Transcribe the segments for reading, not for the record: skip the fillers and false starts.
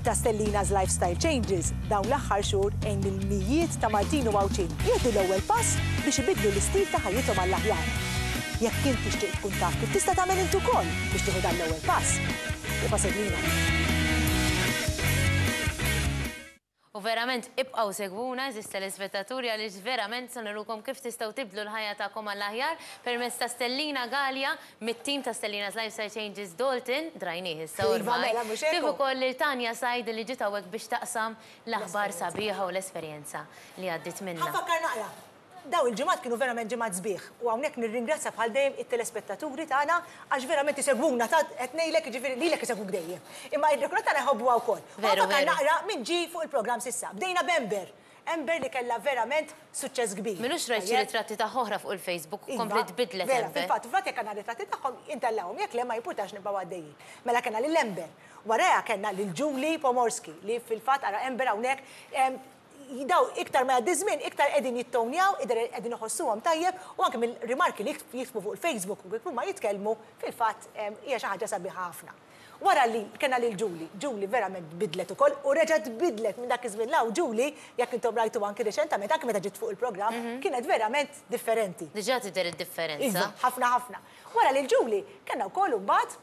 It-tim ta' Stellina's Lifestyle Changes dawn l-aħħar xhur għin lil mijiet ta' Maltin u Għawdxin jieħdu l-ewwel pass biex ibiddlu l-istil ta' ħajjithom għall-aħjar. Jekk int tixtieq tkun taf kif tista' tagħmel int ukoll biex tieħu dan l-ewwel pass, ibqa' segwina. U verament ibqgħu segwuna għeżież telespettaturi għaliex verament se nurukom kif tistgħu tibdlu l-ħajja tagħkom għall-aħjar permezz ta' Stellina Galea mit-tim ta' Stellina's Lifestyle Changes Dalton, drajnih issa Iva ormai, mela mhux hekk kif hu. ukoll lil Tania Said li ġiet hawnhekk biex taqsam l-aħbar sabiħa u l-esperjenza li għaddiet Ħa minnha. nfakkar naqra. Dawn il-ġimgħat kienu verament ġimgħat sbieħ u hawnhekk nirringrazzja bħal dejjem it-telespettaturi tagħna għax verament isegwuna ta' qed ngħidlek jiġifieri lilek isegwuk dejjem. Imma ir-rekord tagħna jħobbuha wkoll. U Veru, nfakkar veru. naqra min ġie fuq il-programm s'issa. Bdejna b'Amber. Amber li kellha verament suċċess kbir. M'ilux rajt xi Tajjeb? ritratti tagħha oħra fuq il-Facebook u Iva, kompliet tbiddlet vera, Amber. fil-fatt, fil-fatt jekk għandna ritratti tagħhom intellgħuhom, jekk le ma jimpurtax nibqgħu għaddejjin. Mela kellna lil Amber. Warajha kellna lil Julie Pomorski li fil-fatt ara Amber hawnhekk Dawn iktar ma jgħaddi ż-żmien iktar qegħdin jittownjaw, iktar qegħdin iħossuhom tajjeb u anke mill-rimarki li jiktbu fuq il-Facebook u kif huma jitkellmu fil-fatt hija xi ħaġa sabiħa ħafna. Wara li kellna lil Julie, Julie verament tbiddlet ukoll u reġgħet tbiddlet minn dak iż-żmien 'l hawn Julie, jekk intom rajtuha anki riċentament, anki meta ġiet fuq il-programm, kienet verament differenti. Diġà tidher id-differenza. Iva, ħafna ħafna. Wara lil Julie kellna wkoll imbagħad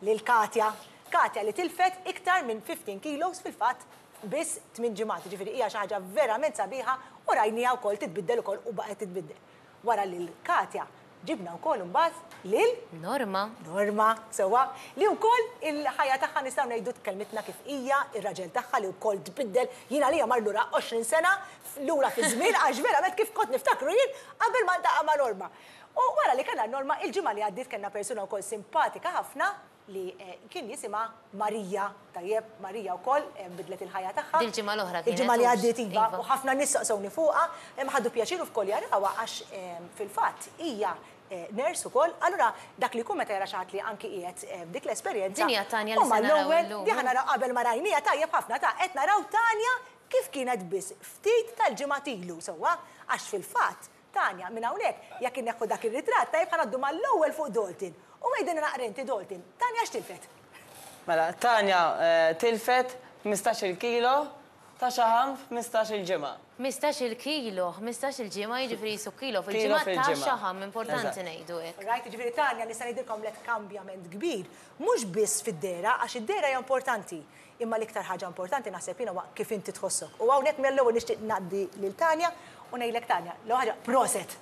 lil Katja. Katja li tilfet iktar minn 15 kilos fil-fatt f'biss tminn ġimgħat, jiġifieri hija xi ħaġa verament sabiħa u rajniha wkoll titbiddel ukoll u baqgħet titbiddel. Wara lil Katja ġibna wkoll imbagħad lil. Norma. Norma, sewwa, li wkoll il-ħajja tagħha nistgħu ngħidu tkellmitna kif hija, ir-raġel tagħha li wkoll tbiddel, jien għalija mar lura 20 sena lura fiż-żmien għax verament kif kont niftakru jien qabel ma ltaqa' ma' Norma. U wara li kellna Norma, il-ġimgħa li għaddiet kellna persuna wkoll simpatika ħafna li kien jisimha Marija, tajjeb, Marija wkoll bidlet il-ħajja tagħha. Dil-ġimgħa l-oħra kienet. Il-ġimgħa li għaddiet iva, u ħafna nies saqsewni fuqha, ħadu pjaċir ukoll jarawha għax fil-fatt hija nurse ukoll, allura dak li jkun meta jara xi ħadd li anki qiegħed f'dik l-esperjenza. Din hija Tanja li se naraw illum. Din ħa naraw qabel ma rajniha tajjeb ħafna ta' qed naraw Tanja kif kienet biss ftit tal-ġimgħat ilu sewwa, għax fil-fatt Tanja, minn hawnhekk, jekk inneħħu dak ir-ritratt, tajjeb ħa ngħaddu mal-ewwel fuq Dalton. U għidilna naqra inti Dalton, Tanja x'tilfet? Mela, Tanja tilfet 15-il kilo ta' xaħam f'ħmistax-il ġimgħa. 15-il kilo, 15-il ġimgħa jiġifieri qisu kilo fil-ġimgħa ta' xaħam, importanti ngħidu hekk. Right, jiġifieri Tanja nista' ngħidilkom għamlet kambjament kbir, mhux biss fid-dehra għax id-dehra hija importanti, Imma l-iktar ħaġa importanti naħseb jiena huwa kif inti tħossok. U hawnhekk mill-ewwel nixtieq ngħaddi lil Tanja u ngħidlek Tanja, l-ewwel ħaġa proset!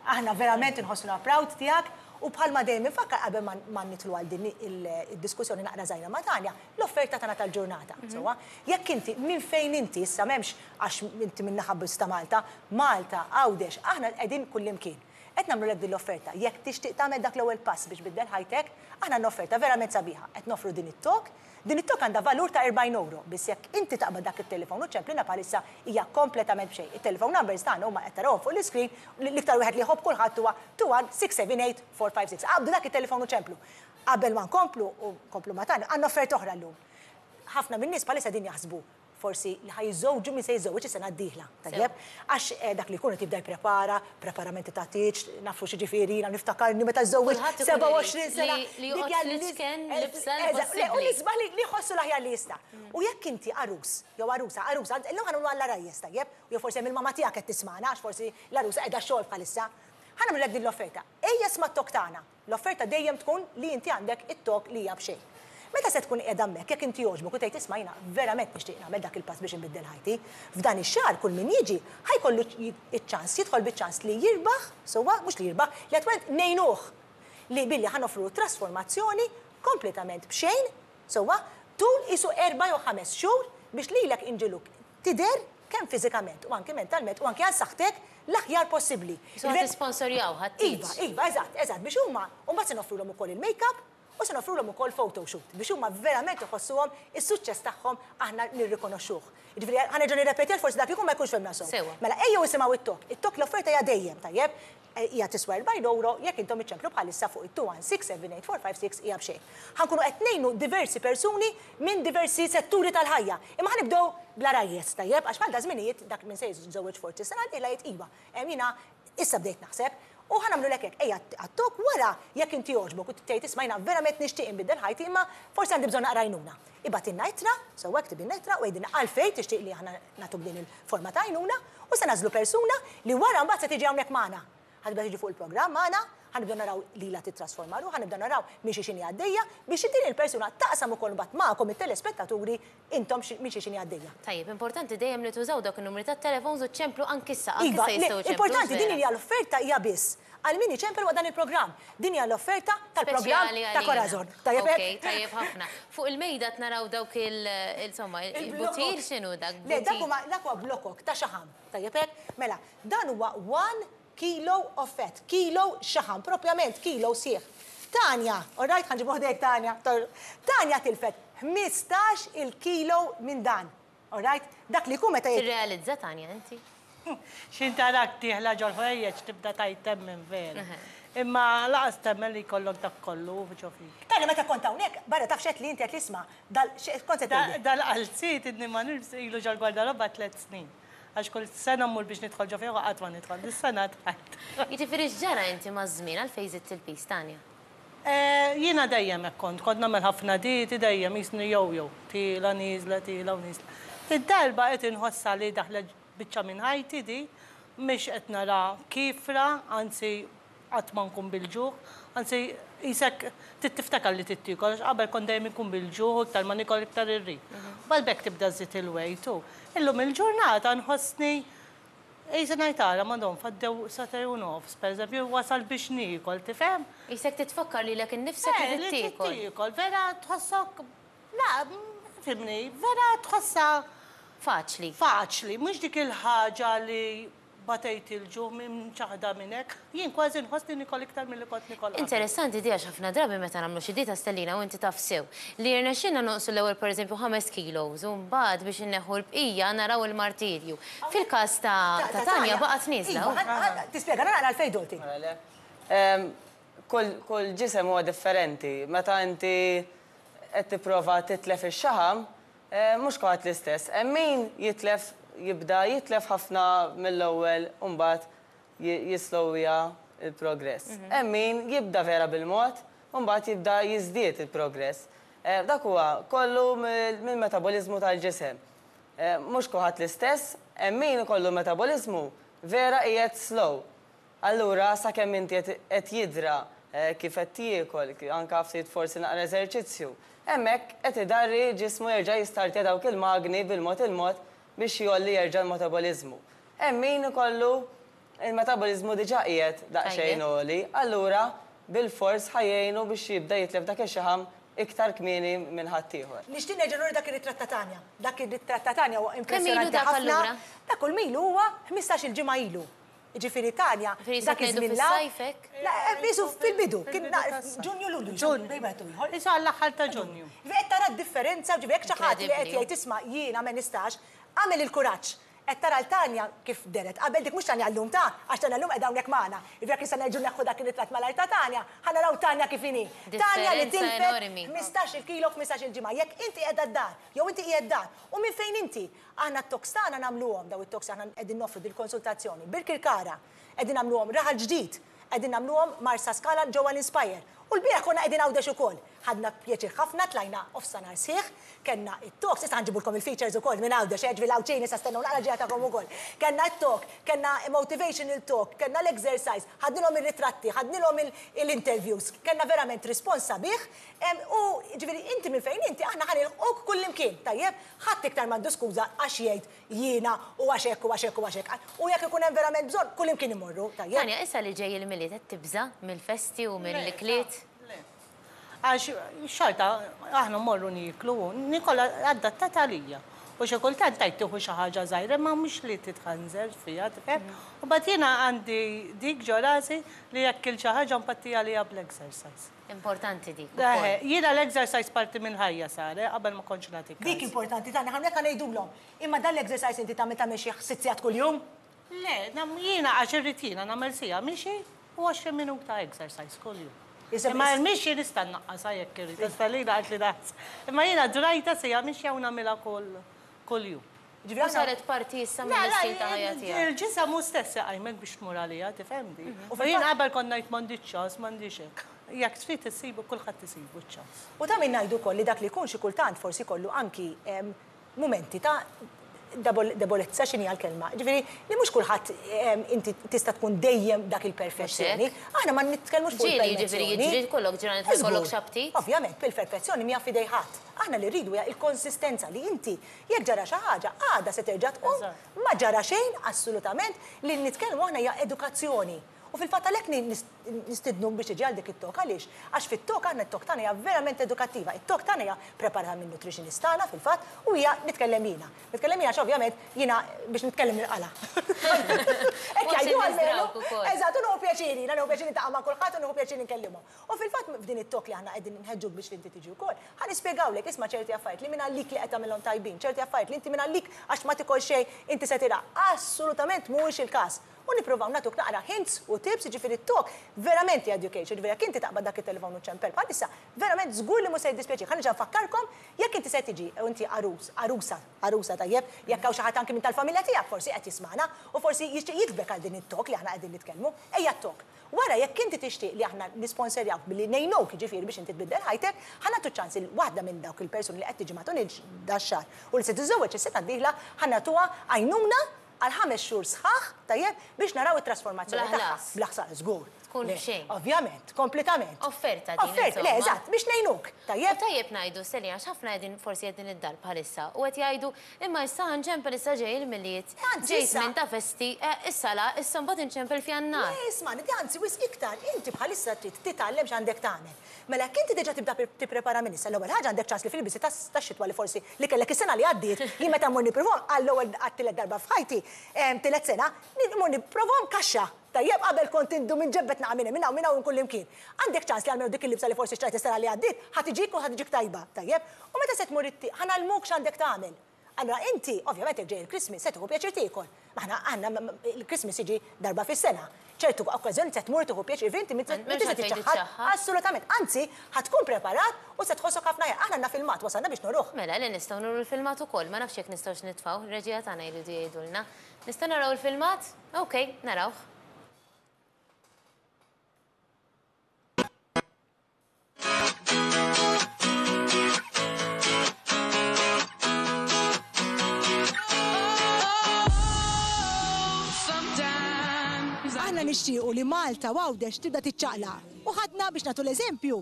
Aħna verament inħossuna proud tiegħek u bħalma dejjem infakkar qabel ma nidħlu għal din id-diskussjoni naqra żgħira ma' Tanja, l-offerta tagħna tal-ġurnata. Sewwa? Jekk inti minn fejn inti issa m'hemmx għax inti min-naħa biss ta' Malta, Malta, Għawdex, aħna qegħdin kullimkien. Qed nagħmlulek din l-offerta. Jekk tixtieq tagħmel dak l-ewwel pass biex tbiddel ħajtek, aħna għandna offerta verament sabiħa. Qed noffru din it-talk Din it-talk għandha valur ta' 40 ewro, biss jekk inti taqbad dak it-telefon u ċċemplilna bħalissa hija kompletament b'xejn. It-telephone numbers tagħna huma qed tarawhom fuq l-iscreen, l-iktar wieħed li jħobb kulħadd huwa 2167 8456. Aqbdu dak it-telefon u ċemplu. Qabel ma nkomplu u nkomplu ma' Tanja, għandna offerta oħra llum. Ħafna min-nies bħalissa qegħdin jaħsbu forsi li ħa jiżżewġu min se jiżżewweġ is-sena d-dieħla, tajjeb? Għax dak li jkun qed jibda jipprepara, preparamenti ta' tieġ, nafu x'jiġifieri jiena niftakarni meta żżewwiġt 27 sena. Li joqgħod fl-iċken libsa li possibbli. U l-isbaħ li jħossu l-aħjar li jista'. U jekk inti għarus jew għarusa, għarusa, illum ħa nagħmlu għall-għarajjes, tajjeb? Jew forsi hemm il-mamma tiegħek qed tismagħna għax forsi l-għarusa qiegħda x-xogħol bħalissa. Ħa nagħmlulek din l-offerta. Ejja sma' t-talk tagħna. L-offerta dejjem tkun li inti għandek it-talk li hija b'xejn. Meta se tkun qiegħda hemmhekk, jekk inti jogħġbok u tgħid isma' jiena verament nixtieq nagħmel dak il-pass biex inbiddel ħajti, f'dan ix-xahar kull min jiġi ħa jkollu ċ-ċans, jidħol biċ-ċans li jirbaħ, sewwa, mhux li jirbaħ, li attwalment ngħinuh li billi ħa noffrulu trasformazzjoni kompletament b'xejn, sewwa, tul qisu erba' jew ħames xhur biex lilek inġiluk tidher kemm fiżikament u anki mentalment u anki għal saħħtek l-aħjar possibbli. Qisu ħa tisponsorjaw, ħa tteach. Iva, iva, eżatt, eżatt, biex huma, u mbagħad se noffrulhom ukoll il-make-up u se noffrulhom ukoll photoshoot biex huma verament iħossuhom is-suċċess tagħhom aħna nirrikonoxxuh. Jiġifieri ħa nerġa' nirrepeti għax forsi dak li jkun ma jkunx fehmna sew. Sewwa. Mela ejjew isimgħu it-talk. It-talk l-offerta hija dejjem, tajjeb? Hija tiswa 40 ewro, jekk intom iċċemplu bħalissa fuq it-21678456 hija b'xejn. Ħa nkunu qed ngħinu diversi persuni minn diversi setturi tal-ħajja. Imma ħa nibdew bl-għarajjes, tajjeb? Għax bħal daż-żminijiet dak min se jiżżewweġ forsi s-sena d-dieħla jgħid iva, jiena issa bdejt naħseb. U ħa nagħmlulek hekk, ejja għat-talk wara jekk inti jogħġbok u tgħid isma' jiena verament nixtieq inbiddel ħajti imma forsi għandi bżonn naqra għajnuna. Ibgħatilna ittra, sewwa iktibilna ittra u għidilna għalfejn tixtieq li aħna nagħtuk din il-forma ta' għajnuna u se nagħżlu persuna li wara mbagħad se tiġi hawnhekk magħna. Ħa tibda tiġi fuq il-programm magħna, ħa nibdew naraw lilha tittrasforma ruħha, nibdew naraw minn xiex inhi għaddejja biex din il-persuna taqsam ukoll mbagħad magħkom it-telespettaturi intom minn xiex inhi għaddejja. Tajjeb, importanti dejjem li tużaw dawk in-numri tat-telefons u ċċemplu anki issa, anki Iva, issa le, jistgħu jċemplu, importanti, din vera. hija l-offerta hija biss għal min iċempel waqt dan il-programm. Din hija l-offerta tal-programm Speċjali ta' għalina. Corazon. Tajjeb Ok, hekk? tajjeb ħafna. Fuq il-mejda qed naraw dawk il, insomma, Il-blokok. il-butir x'inhu dak? Le, dak Butir. huma dak huwa blokok ta' xaħam. Tajjeb hekk? Mela, dan huwa 1 kilo of fat, kilo xaħam, propjament kilo sħiħ. Tanja, all right, ħa nġibu ħdejk Tanja. Tanja tilfet 15 il-kilo minn dan. All right? Dak li jkun meta jgħid. Tirrealizza Tanja inti? X'ħin tarak dieħla ġol-ħwejjeġ tibda tgħid temmen vera. Imma laqas temmen li jkollok dak kollu ġo fik. Tanja meta kont hawnhekk, barra taf x'għedt li inti qed li isma' dal kont se tgħidli. Dal-qalziet inni ma nilbs ilu ġol-gwardarobba tliet snin. Għax kull sena mmur biex nidħol ġo fih u qatt ma nidħol. Dis-sena dħalt. Jiġifieri x'ġara inti maż-żmien għalfejn żidt il-piż, Tanja? Jiena dejjem hekk kont, kont nagħmel ħafna dieti dejjem qisni yo-yo, tiela' nieżla, tiela' u nieżla. Id-darba qed inħossha li daħlet biċċa minn ħajti di, mhix qed nara kiefra, anzi qatt ma nkun bil-ġuħ, anzi qisek trid tiftakar li trid tiekol għax qabel kont dejjem inkun bil-ġuħ u iktar ma niekol iktar irrid. Mbagħad b'hekk tibda żżid il-weight u illum il-ġurnata nħossni qisni ngħid ara madon faddew sagħtejn u nofs pereżempju wasal biex niekol, tifhem? Qisek titfakkar lilek innifsek li trid tiekol. Eh, li trid tiekol, vera tħossok la, fimni, vera tħossha Faċli. Faċli, mhux dik il-ħaġa li batejt il-ġuħ minn ċaħda minn hekk, jien kważi nħossni nikol iktar milli kont nikol qabel. Interessanti di għax ħafna drabi meta nagħmlu xi dieta Stellina u inti taf sew li jirnexxilna nonqsu l-ewwel pereżempju 5 kilos u mbagħad biex inneħħu l-bqija naraw il-martirju. Fil-każ ta' ta' Tanja baqgħet nieżla. Iva, tispjega naqra għalfejn Dolti. Mela le. Kull kull ġisem huwa differenti. Meta inti qed tipprova titlef ix-xaħam, Mhux kulħadd l-istess. Hemm min jitlef jibda jitlef ħafna mill-ewwel u mbagħad jislowja l-progress. Hemm min jibda vera bil-mod u mbagħad jibda jiżdied il-progress. Dak huwa kollu mill-metaboliżmu tal-ġisem. Mhux kulħadd l-istess, hemm min ikollu metaboliżmu vera qiegħed slow. Allura sakemm inti qed qed jidhra kif qed tiekol, anke ftit forsi naqra eżerċizzju, hemmhekk qed idarri ġismu jerġa' jistartja dawk il-magni bil-mod il-mod biex jgħolli jerġa' l-metaboliżmu. Hemm min ikollu l-metaboliżmu diġà qiegħed daqsxejn għoli, allura bilfors ħa jgħinu biex jibda jitlef dak ix-xaħam iktar kmieni minn ħaddieħor. Nixtieq nerġa' nuri dak ir-ritratt ta' Tanja. Dak ir-ritratt ta' Tanja huwa Kemm ilu impressjonanti dak ħafna. allura? Dak kull mil huwa 15-il ġimgħa ilu. Jiġifieri Tanja, dak iż-żmien la. La, qisu fil-bidu, kien Ġunju, Lulju. Ġunju. Qisu għall-aħħar ta' Ġunju. Ġifieri qed tara d-differenza, ġifieri jekk xi ħadd li qed jgħid isma' jiena ma nistax, agħmel il-kuraġġ. Qed tara 'l Tanja kif dehret qabel, dik mhux Tanja llum ta, għax Tanja llum qiegħda hawnhekk magħna. Jiġifieri jekk issa nerġgħu neħħu dak ir-ritratt malajr ta' Tanja, ħa naraw Tanja kif inhi. Tanja li tilfet 15-il kilo f'ħmistax-il ġimgħa. Jekk inti qiegħda d-dar, jew inti qiegħed dar, u minn fejn inti, Aħna t-talks tagħna nagħmluhom, dawn it-talks aħna qegħdin noffru dil-konsultazzjoni Birkirkara, qegħdin nagħmluhom Raħal Ġdid, qegħdin nagħmluhom Marsaskala ġewwa l-Inspire. U lbieraħ konna qegħdin Għawdex ukoll. Ħadna pjaċir ħafna, tlajna offsanhar sħiħ, kellna it-talks, issa ħa nġibulkom il-features ukoll minn Għawdex, eh, ġifieri l-Għawdxin issa stennew naqra ġejja tagħkom ukoll. Kellna t-talk, kellna motivational talk, kellna l-exercise, ħadnilhom ir-ritratti, ħadnilhom l-interviews, kellna verament rispons sabiħ, u ġifieri inti minn fejn inti aħna ħa nilħquk kullimkien, tajjeb? Ħadd iktar m'għandu skuża għax jgħid jiena u għax hekk u għax hekk u għax hekk. U jekk ikun hemm verament bżonn, kullimkien immorru, tajjeb? Tanja, issa li ġej il-Milied qed tibża' mill-festi u mill-ikliet? Le, le. Għax xorta aħna mmorru nieklu u niekol adattat għalija. U xi kultant tgħid tieħu xi ħaġa żgħira imma mhux li titħanżer fiha, tifhem? U mbagħad jiena għandi dik ġo rasi li jekk kilt xi ħaġa npatti għaliha bl-exercise. Importanti dik ukoll. Eħe, jiena l-exercise parti mill-ħajja sar, eh, qabel ma kontx nagħti kas. Dik importanti tagħna, hawnhekk ħa ngħidulhom. Imma dan l-exercise inti tagħmel tagħmel xi sitt sigħat kuljum? Le, jiena għax irrid jiena nagħmel siegħa mixi u 20 minuta exercise kuljum. Imma l-mixi nista' nnaqqasha jekk irrid, għax Stalina qaltli naqs. Imma jiena drajtha siegħa mixja u nagħmilha kull kuljum. Ġifieri U saret parti issa mill-istil ta' ħajja tiegħek. Il-ġisem hu stess iqajmek biex tmur għaliha, tifhem di. U jien qabel kont ngħid m'għandix ċans, m'għandix hekk. Jekk trid issibu, kulħadd isibu ċ-ċans. U ta' min ngħidu wkoll li dak li jkun xi kultant forsi jkollu anki mumenti ta' debolezza, x'inhi l-kelma? Ġifieri li mhux kulħadd inti tista' tkun dejjem dak il-perfezzjoni. Aħna ma nitkellmux fuq Ġieli jiġifieri il-perfezzjoni. jiġri jkollok ġranet fejn jkollok x'aptit. Ovvjament, il-perfezzjoni mhija f'idej ħadd. Aħna li rridu hija l-konsistenza li inti jekk ġara xi ħaġa, għada se terġa' tqum, ma ġara xejn assolutament, li nitkellmu aħna hija edukazzjoni. U fil-fatt għalhekk nistidnuk biex tiġi għal dik it-talk. Għaliex? Għax fit-talk aħna it-talk tagħna hija verament edukattiva. It-talk tagħna hija preparata minn nutritionist tagħna fil-fatt u hija nitkellem jiena. Nitkellem jiena għax ovvjament jiena biex nitkellem nilqala. Hekk Forsi jgħidu għalmenu. nizdrawk ukoll. Eżatt, u nieħu pjaċir jiena, nieħu pjaċir niltaqa' ma' kulħadd u nieħu pjaċir nkellimhom. U fil-fatt f'din it-talk li aħna qegħdin nħeġġuk biex inti tiġi wkoll, ħa nispjegawlek isma' ċerti affarijiet li minn għalik li qed tagħmilhom tajbin, ċerti affarijiet li inti minn għalik għax ma tikol xejn inti se tilgħaq. Assolutament mhuwiex il-każ. U nippruvaw nagħtuk naqra hints u tips, jiġifieri t-talk verament hija education, jiġifieri jekk inti taqbad dak it-telefon u ċempel bħalissa, verament żgur li mhux se jiddispjaċik. Ħa nerġa' nfakkarkom, jekk inti se tiġi u inti għarus, għarusa, għarusa tajjeb, jekk hawn xi ħadd anki minn tal-familja tiegħek forsi qed jismagħna u forsi jixtieq jiktbek għal din it-talk li aħna qegħdin nitkellmu, ejja t-talk. Wara jekk inti tixtieq li aħna nisponserjawk billi ngħinuk jiġifieri biex inti tbiddel ħajtek, ħa nagħtu ċans il waħda minn dawk il-persuni li qed tiġi matul dax-xahar u li se tiżżewweġ is-sena d-dieħla ħa nagħtuha għajnuna għal 5 xhur sħaħ, tajjeb, biex naraw it-trasformazzjoni Bla tagħha. ħlas. Bla ħsara, żgur. Tkun Le, b'xejn. Ovvjament, kompletament. Offerta din, Offerta, le, insomma. eżatt, biex ngħinuk, tajjeb. U tajjeb ngħidu, Selina, għax ħafna qegħdin forsi qegħdin id-dar bħalissa u qed jgħidu, imma issa ħanċempel issa ġej il-Milied, Anzi, ġej issa. żmien ta' festi, issa la, issa mbagħad inċempel f'Jannar. Le, isma', anzi, wisq iktar, inti bħalissa trid titgħallem x'għandek tagħmel. Mela jekk inti diġà tibda tipprepara minn issa, l-ewwel ħaġa għandek ċans li fil-bisi tax-xitwa li forsi li kellek is-sena li għaddiet, jien meta mmur nippruvahom għall-ewwel għat-tielet darba f'ħajti, tielet sena, mmur nippruvahom kaxxa. Tajjeb, qabel kont indum inġebbet naqa' minn hemm, minn hawn, minn hawn kull imkien. Għandek ċans li għalmenu dik il-libsa li forsi xtrajt is-sena li għaddiet, ħa tiġik u ħa tiġik tajba, tajjeb? U meta se tmur it-tieq, ħa ngħallmuk x'għandek tagħmel. Allora inti, ovvjament jekk ġej il-Christmas, se tieħu pjaċir tiekol. Ma aħna għandna il-Christmas jiġi darba fis-sena. Ċertu okkażjoni se tmur tieħu pjaċir, inti M'hemmx tista' għalfejn tiċċaħħad. tiċċaħħad. Assolutament, anzi, ħa tkun preparat u se tħossok ħafna aħjar. Aħna għandna filmat, wasalna biex nuruh. Mela, li nistgħu nuru l-filmat ukoll, ma nafx jekk nistgħux nitfgħu, ir-reġija tagħna jridu jgħidulna. Nistgħu naraw il-filmat? Ok, narawh. Aħna nixtiequ li Malta u Għawdex tibda tiċċaqlaq. U ħadna biex nagħtu l-eżempju,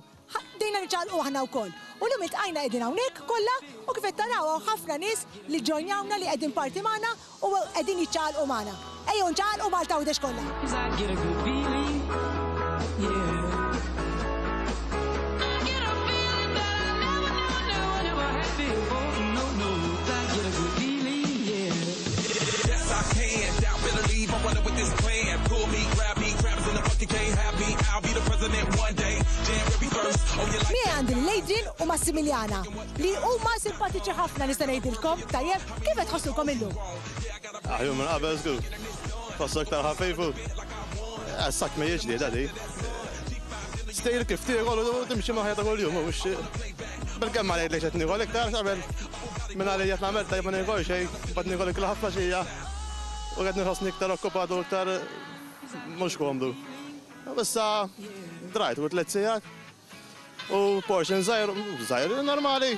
bdejna niċċaqlqu aħna wkoll. U llum iltqajna qegħdin hawnhekk kollha u kif qed taraw hawn ħafna nies li ġojnjawna li qegħdin parti magħna u qegħdin jiċċaqlqu magħna. Ejjew nċaqalqu Malta Għawdex kollha. I get a good feeling, yeah. I get a feeling that I never, never, never, never had before. No, no, I get a good feeling, yeah. Yes, I can. Doubt better leave. I'm running with this plan. Pull me, grab me, grabs in the bucket, can't have me. I'll be the president one day. January 1st. Oh, you like Miegħi għandi lil Adrian u Massimiliana li huma simpatiċi ħafna nista' ngħidilkom, tajjeb, kif qed tħossukom illum? Aħjar minn qabel żgur. Tħossok aktar ħafif u sak ma jiġri dadi. Stejl kif tiekol u timxi ma' ħajja ta' kuljum, mhux bil-kemm ma ngħidlek qed niekol iktar qabel minn għalija qed nagħmel tajjeb ma niekol xejn, bad niekol ikla ħafna xija u qed nħossni iktar okkupat u iktar mhux komdu. Issa drajt u 3 sigħat u portion żgħir, żgħir normali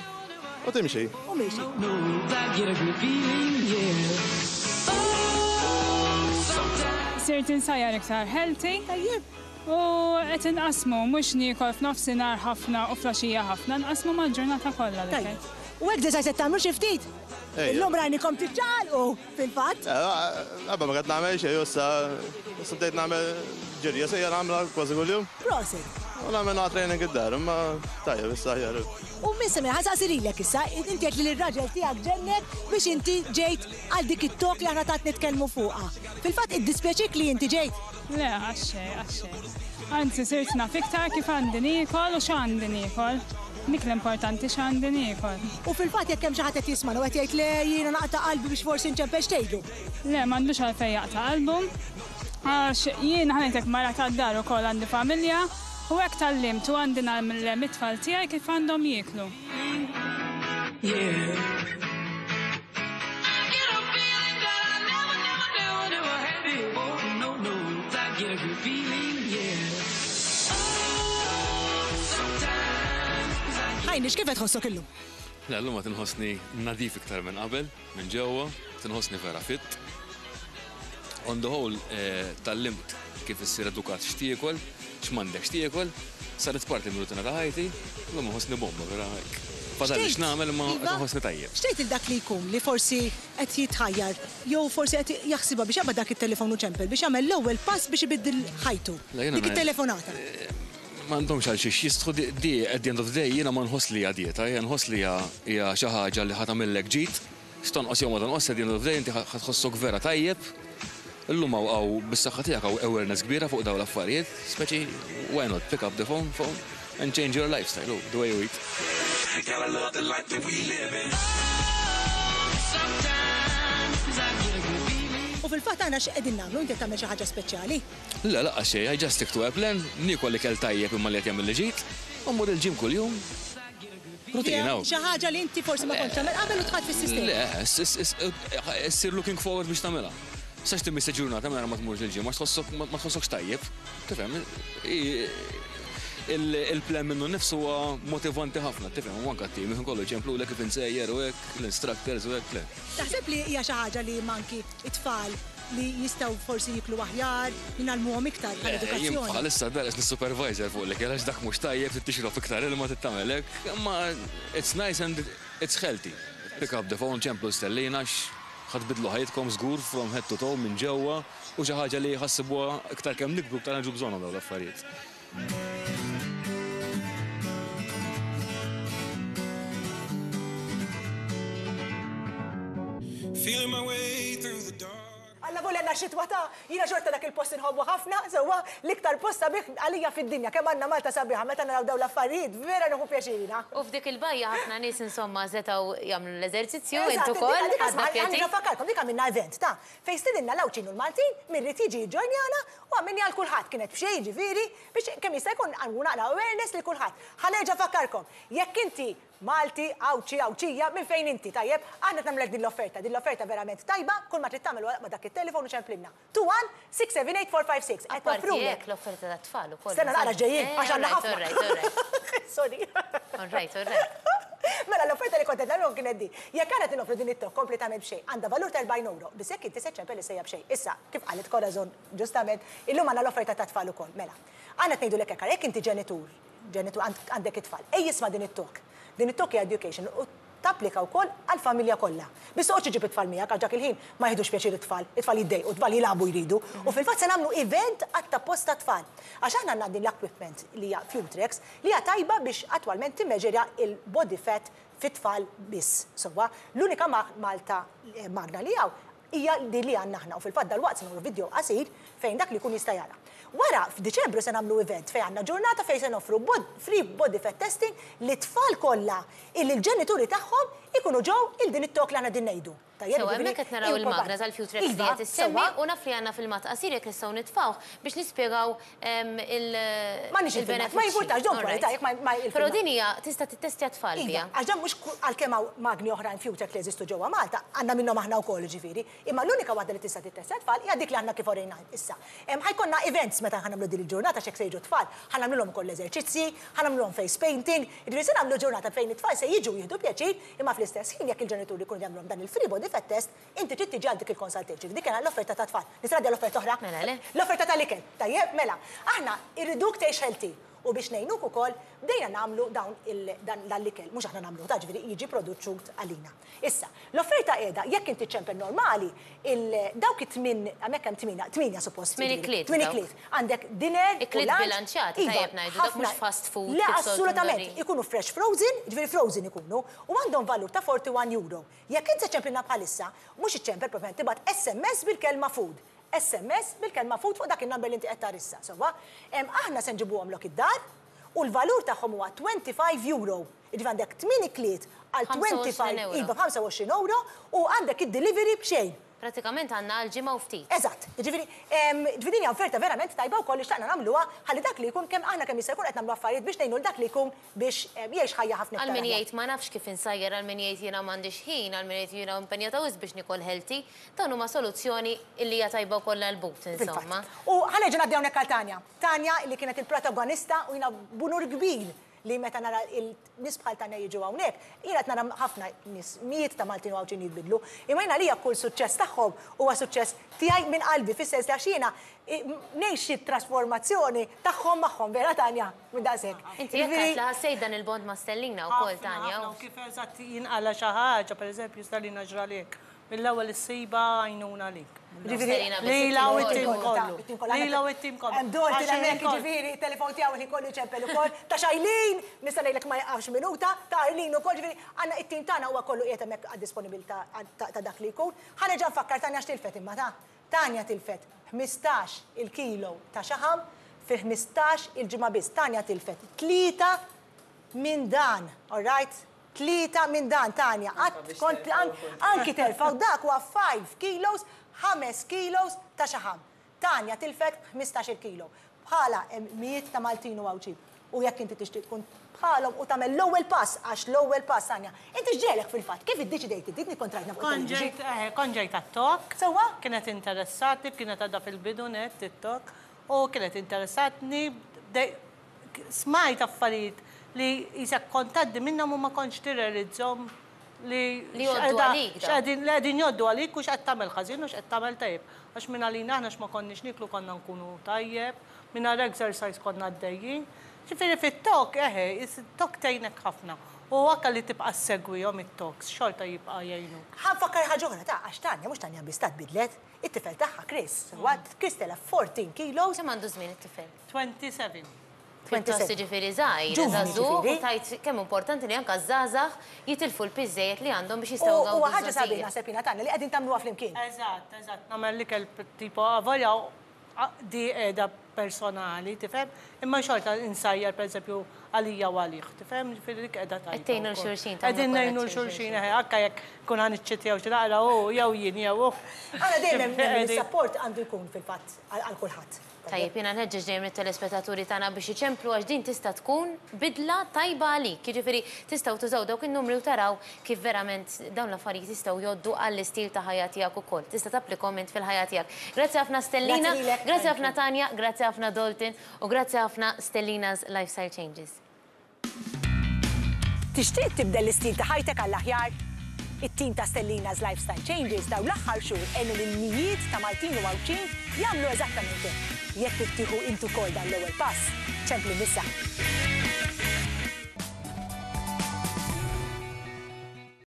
u timxi. U miexi. No, I get a good feeling, yeah. Sirt insajjar iktar healthy. Tajjeb. U qed inqasmu mhux niekol f'nofsinhar ħafna u flaxija ħafna, nqasmu mal-ġurnata kollha l-ikel. Tajjeb. U hekk diżaj se tagħmlu xi ftit? Ejja. Illum rajnikom tiċċaqalqu fil-fatt. Qabel ma qed nagħmel xejn, issa issa bdejt nagħmel ġirja sejja nagħmilha kważi kuljum. Prosit. U nagħmel nagħmel training id-dar, imma tajjeb issa aħjar. U minn semmi ħa nsaqsilek issa, inti qed li l-raġel tiegħek ġennek biex inti ġejt għal dik it-talk li aħna tant nitkellmu fuqha. Fil-fatt iddispjaċik li inti ġejt? Le, għax-xejn, għax-xejn. Anzi, sirt naf iktar kif għandi niekol u x'għandi niekol. Dik l-importanti x'għandi niekol. U fil-fatt jekk hemm xi ħadd qed jisma' u qed jgħid le jiena naqta' qalbi biex forsi nċempel x'tgħidu. Le, m'għandux għalfejn jaqta' qalbu. Għax jiena ħanejtek mara tad-dar ukoll għandi familja u hekk tgħallimt u għandi ngħallem it-tfal tiegħi kif għandhom jieklu. Yeah. I get a feeling, yeah. Oh, sometimes I Ħajni, x'kif qed tħossok illum? Le, llum qed inħossni nadif iktar minn qabel, minn ġewwa, qed inħossni vera fit. On the whole, tgħallimt kif issir edukat x'tiekol, x'm'għandekx tiekol, saret parti mir-rutina ta' ħajti, llum inħossni bomba vera hekk. Fadalli x'nagħmel imma qed inħossni tajjeb. X'tgħid lil dak li jkun li forsi qed jitħajjar jew forsi qed jaħsibha biex jaqbad dak it-telefon u ċempel biex jagħmel l-ewwel pass biex ibiddel ħajtu? Dik it-telefonata. M'għandhomx għal xiex jistħu di at the end of the day jiena ma nħoss li hija dieta, jiena nħoss li hija hija xi ħaġa li ħa tagħmillek ġid, x'tonqos jew ma tonqosx at the end of the day inti ħa tħossok vera tajjeb. Illum hawn hawn bis-saħħa tiegħek hawn awareness kbira fuq dawn l-affarijiet, speċi why not pick up the phone phone and change your lifestyle, the way you eat. Gotta love the life that we live in. Sometimes I get a good feeling. U fil-fatt aħna x'qegħdin nagħmlu, inti qed tagħmel xi ħaġa speċjali? Le, lanqas xejn, I just stick to a plan, niekol ikel tajjeb imma li qed jagħmilli ġid, u mmur il-gym kuljum. Rutina hawn. Xi ħaġa li inti forsi ma kontx tagħmel qabel u dħalt fis-sistema. Le, issir looking forward biex tagħmilha. Sax timmissa ġurnata mingħajr ma tmurx il-gym għax tħossok ma tħossokx tajjeb. Tifhem? Il-plan minnu nnifsu huwa motivanti ħafna, tifhem? U anke t-tim kollu jċemplulek kif insejjer u hekk, l-instructors u hekk, le. Taħseb li hija xi ħaġa li manki t-tfal li jistgħu forsi jiklu aħjar, li ngħallmuhom iktar bħala edukazzjoni? Jien bħalissa d-dar qed nissupervisor fuq l-ikel għax dak mhux tajjeb, trid tixrob iktar ilma, trid tagħmel hekk, imma it's nice and it's healthy. Pick up the phone, ċemplu Stellina għax ħa tbiddlu ħajjitkom żgur from head to toe minn ġewwa u xi ħaġa li ħa ssibuha iktar kemm nikbru iktar niġu bżonnhom dawn l-affarijiet. Feeling my way through the dark. Alla volja għandna xitwa ta' jiena xorta dak il-post inħobbu ħafna, sewwa l-iktar post sabiħ għalija fid-dinja. Kemm għandna Malta sabiħa meta naraw dawn l-affarijiet, vera nieħu pjaċir jiena. U f'dik il-bajja ħafna nies insomma setgħu jagħmlu l-eżerċizzju, int ukoll ħadna pjaċir. Ħa nfakkarkom dik għamilna event ta' fejn stidinna l-Għawdxin u l-Maltin min ried jiġi jiġġojnjana u għamilniha għal kulħadd kienet b'xejn jiġifieri biex kemm jista' jkun nqajmu naqra awareness lil kulħadd. Ħa nerġa' nfakkarkom, jekk inti Malti, Għawdxi, Għawdxija, minn fejn inti, tajjeb? Aħna qed nagħmlulek din l-offerta, din l-offerta verament tajba, kull ma trid tagħmel huwa taqbad dak it-telefon u ċemplilna. 21678456. Qed Apparti noffrulek. hekk l-offerta tat-tfal ukoll. Stenna naqra x'ġejjin, għax għandna ħafna. All right, all right, all right. Sorry. All right, all right. Mela l-offerta li kont qed nagħmlilhom kienet din. Jekk aħna qed noffru din it-talk kompletament b'xejn, għandha valur ta' 40 ewro, biss jekk inti se ċċempel issa hija b'xejn. Issa, kif qalet Corazon ġustament, illum għandna l-offerta tat-tfal ukoll. Mela, aħna qed ngħidulek hekk, ara jekk inti ġenitur, ġenitur għandek it-tfal, ejja isma' din it-talk. Din it-talk hija education u tapplika wkoll għall-familja kollha. Biss toqgħodx iġġib it-tfal miegħek għax dak il-ħin ma jiħdux pjaċir it-tfal, it-tfal jiddejqu, it-tfal jilagħbu jridu. U fil-fatt se nagħmlu event għat-tapposta tfal. Għax aħna għandna din l-equipment li hija Futrex li hija tajba biex attwalment timmeġerja il-body fat fit-tfal biss. Sewwa, l-unika Malta magna li hawn hija din li għandna aħna u fil-fatt dalwaqt se nagħmlu video qasir fejn dak li jkun jista' jara. Wara, f'Diċembru se nagħmlu event fejn għandna ġurnata fejn se noffru free body fat testing lit-tfal kollha illi l-ġenituri tagħhom ikunu ġew il din it-talk li aħna qegħdin ngħidu. Tajjeb, Sewwa, jiġifieri hemmhekk qed naraw il-magna tal-Futrex li Iva, qed issemmi sewwa. u naf li għandna filmat qasir jekk nistgħu nitfgħuh biex nispjegaw M'għandniex il-filmat, ma il-benefiċċji. jimpurtax, don't worry, All right. ta' jekk ma il-filmat. Però din hija tista' tittestja t-tfal Iva, biha. għax dan mhux għalkemm hawn magni oħrajn Futrex li jeżistu ġewwa Malta, għandna minnhom aħna wkoll jiġifieri, imma l-unika waħda li tista' tittestja t-tfal hija dik li aħna kif orejna issa. Ħa jkollna events meta ħa nagħmlu din il-ġurnata għax hekk se jiġu t-tfal, ħa nagħmlulhom ukoll l-eżerċizzji, ħa nagħmlulhom face painting, jiġifieri se nagħmlu ġurnata fejn it-tfal se jiġu jieħdu pjaċir, imma fl-istess ħin jekk il-ġenituri jkunu jagħmlulhom dan il-free body fat test, inti trid tiġi għal dik il-consultation. Dik kienet l-offerta tat-tfal. Nista' ngħaddi għall-offerta oħra? Mela le. L-offerta tal-ikel. Tajjeb, mela. Aħna irriduk tgħix healthy u biex ngħinuk ukoll bdejna nagħmlu dawn il dan l-ikel. Mhux aħna nagħmluh, ta' ġifieri jiġi produċut għalina. Issa, l-offerta qiegħda jekk inti ċempel normali, il dawk it-tmien, hemmhekk hemm tmiena, tmienja suppost. Tmien jiġifieri. ikliet Tmien dawk. ikliet. Għandek dinner u Ikliet lunch. bilanċjati, Iva, tajjeb ngħidu, dak mhux ħafna. fast food Le, kif soltu assolutament. ndorin. Ikunu fresh frozen, ġifieri frozen ikunu, u għandhom valur ta' 41 euro. Jekk inti ċemplilna bħalissa, mhux iċċempel propjament tibgħat SMS bil-kelma food. SMS bil-kelma food fuq dak il-number li inti qed tara issa. Sewwa, aħna se nġibuhomlok id-dar u l-valur tagħhom huwa 25 euro. Jiġifieri għandek 8 ikliet għal 25 25 euro. iva, 25 euro u għandek id-delivery b'xejn. Pratikament għandna għal ġimgħa u ftit. Eżatt. Jiġifieri, jiġifieri din hija offerta verament tajba wkoll li xtaqna nagħmluha ħalli dak li jkun kemm aħna kemm jista' jkun qed nagħmlu affarijiet biex ngħinu 'l dak li jkun biex jgħix ħajja ħafna iktar Għal min aħjar. jgħid ma nafx kif insajjar, għal min jgħid jiena m'għandix ħin, għal min jgħid jiena impenjata wisq biex niekol healthy, dawn huma soluzzjoni illi hija tajba wkoll għall-but, insomma. Fil-fatt. U ħa nerġa' ngħaddi hawnhekk għal Tanja. Tanja li kienet il-protagonista u jiena b'unur kbir li meta nara il-nies bħal Tanja jiġu hawnhekk, jiena qed nara ħafna nies, mijiet ta' Maltin u Għawdxin jitbiddlu, imma jiena għalija kull suċċess tagħhom huwa suċċess tiegħi minn qalbi, fis-sens li għax jiena ngħix it-trasformazzjoni tagħhom magħhom, vera Tanja? Minn daqshekk. Inti hekk għedt li ħassejt dan il-bond ma' Stellina wkoll Tanja. Ħafna, ħafna, u kif eżatt jinqala' xi ħaġa, pereżempju Stellina ġralek, Mill-ewwel issibha għajnuna għalik. Lilha u t-tim kollu. Lilha u t-tim kollu. Hemm Dorothy hemmhekk jiġifieri t-telefon tiegħu il-ħin kollu jċempel ukoll. Ta' Shailene, nista' ngħidlek ma jieqafx minuta, ta' Arlene ukoll, jiġifieri għandna it-tim tagħna huwa kollu qiegħed hemmhekk għad-disponibilità ta' dak li jkun. Ħa nerġa' nfakkar Tanja x'tilfet imma ta'. Tanja tilfet 15 il-kilo ta' xaħam fi 15 il-ġimgħa biss. Tanja tilfet 3 minn dan, all right? 3 minn dan, Tanja, qatt kont anki terfgħu dak huwa 5 kilos, 5 kilos ta' xaħam. Tanja tilfet 15-il kilo. Bħalha hemm mijiet ta' Maltin u Għawdxin. U jekk inti tixtieq tkun bħalhom u tagħmel l-ewwel pass, għax l-ewwel pass, Tanja, inti x'ġegħlek fil-fatt? Kif iddeċidejt inti? Inti kont rajtna fuq Kont it-television. ġejt, eħe, kont ġejt għat-talk. Sewwa? Kienet interessatni, kienet għadha fil-bidu nett it-talk, u kienet interessatni, bdej, Smajt affarijiet li qisek kont tgħaddi minnhom u ma kontx tirrealizzhom li Li jgħoddu għalik dawn. x'qegħdin li qegħdin jgħoddu għalik u x'qed tagħmel ħażin u x'qed tagħmel tajjeb. Għax minn għalina aħna x'ma konniex nieklu konna nkunu tajjeb, mingħajr exercise konna għaddejjin. Ġifieri fit-talk eħe, it-talk tgħinek ħafna. U anke li tibqa' ssegwihom it-talks xorta jibqa' jgħinuk. Ħa nfakkar ħaġa oħra ta' għax Tanja mhux Tanja biss ta' tbiddlet, it-tifel tagħha Chris, sewwa, Chris telef 14 kilos. Kemm għandu żmien it-tifel? 27. Pjuttost jiġifieri żgħir, żagħżugħ u tgħid kemm importanti li anke ż-żgħażagħ jitilfu l-piż żejjed li għandhom biex jistgħu jgawdu U huwa ħaġa sabiħa naħseb jiena Tanja li qegħdin tagħmluha flimkien. Eżatt, eżatt, nagħmel l-ikel tipo avolja di qiegħda personali, tifhem? Imma xorta insajjar pereżempju għalija u għalih, tifhem? Ġifieri dik qiegħda tajba. Qed tgħinu 'l xulxin, tagħmlu Qegħdin ngħinu 'l xulxin, eħe, anke jekk nkun ħa niċċittjaw xi naqra hu jew jien jew hu. Aħna dejjem nemmen li s-sapport għandu jkun fil-fatt għal kulħadd. Tajjeb, jiena nħeġġeġ dejjem lit-telespettaturi tagħna biex iċemplu għax din tista' tkun bidla tajba għalik. Jiġifieri tistgħu tużaw dawk in-numri u taraw kif verament dawn l-affarijiet jistgħu jgħoddu għall-istil ta' ħajja tiegħek ukoll. Tista' tapplikhom int fil-ħajja tiegħek. Grazzi ħafna Stellina, grazzi ħafna Tanja, grazzi ħafna Dalton u grazzi ħafna Stellina's Lifestyle Changes. Tixtieq tibdel l-istil ta' ħajtek għall-aħjar? It-tim ta' Stellina's Lifestyle Changes dawn l-aħħar xhur għenu lil mijiet ta' Maltin u Għawdxin jagħmlu eżattament hekk. Jekk trid tieħu int ukoll dan l-ewwel pass, ċempli issa.